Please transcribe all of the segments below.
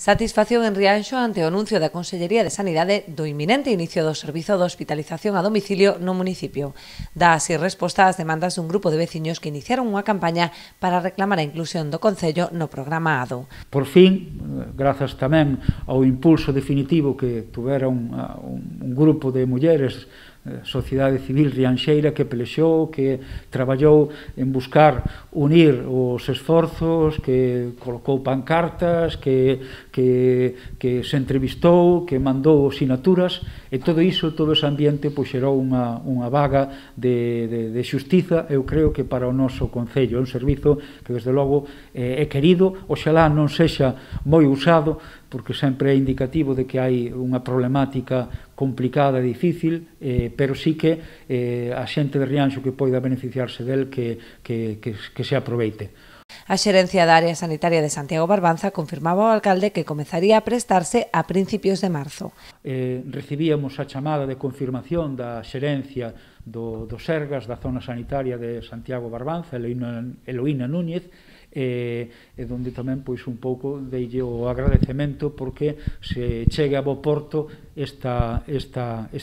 Satisfacción en Rianxo ante o anuncio da Consellería de Sanidade do inminente inicio do servizo de hospitalización a domicilio no municipio. Dá así resposta ás demandas dun grupo de veciños que iniciaron unha campaña para reclamar a inclusión do Concello no programa ADO. Por fin, grazas tamén ao impulso definitivo que tuvera un grupo de mulleres, sociedade civil rianxeira, que pelexou, que traballou en buscar unir os esforzos, que colocou pancartas, que se entrevistou, que mandou sinaturas, e todo iso, todo ese ambiente, pois xerou unha vaga de xustiza. Eu creo que para o noso Concello é un servizo que, desde logo, é querido. Oxalá non sexa moi usado, porque sempre é indicativo de que hai unha problemática complicada e difícil, pero sí que a xente de Rianxo que poida beneficiarse del que se aproveite. A xerencia da área sanitaria de Santiago Barbanza confirmaba ao alcalde que comezaría a prestarse a principios de marzo. Recibíamos a chamada de confirmación da xerencia do Sergas, da zona sanitaria de Santiago Barbanza, Eloína Núñez, donde tamén pois un pouco deille o agradecemento porque se chegue a bo porto esta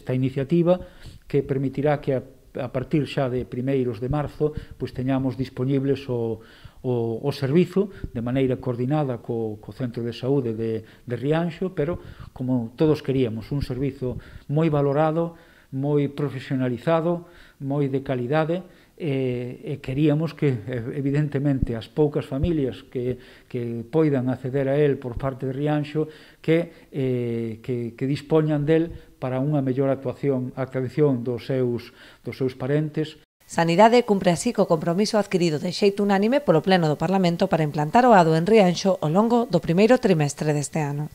iniciativa que permitirá que a partir xa de primeiros de marzo pois teñamos disponibles o servizo de maneira coordinada co Centro de Saúde de Rianxo, pero como todos queríamos, un servizo moi valorado, moi profesionalizado, moi de calidade, e queríamos que, evidentemente, as poucas familias que poidan acceder a él por parte de Rianxo que dispoñan del para unha mellor actuación dos seus parentes. Sanidade cumpre así co compromiso adquirido de xeito unánime polo Pleno do Parlamento para implantar o ADO en Rianxo ao longo do primeiro trimestre deste ano.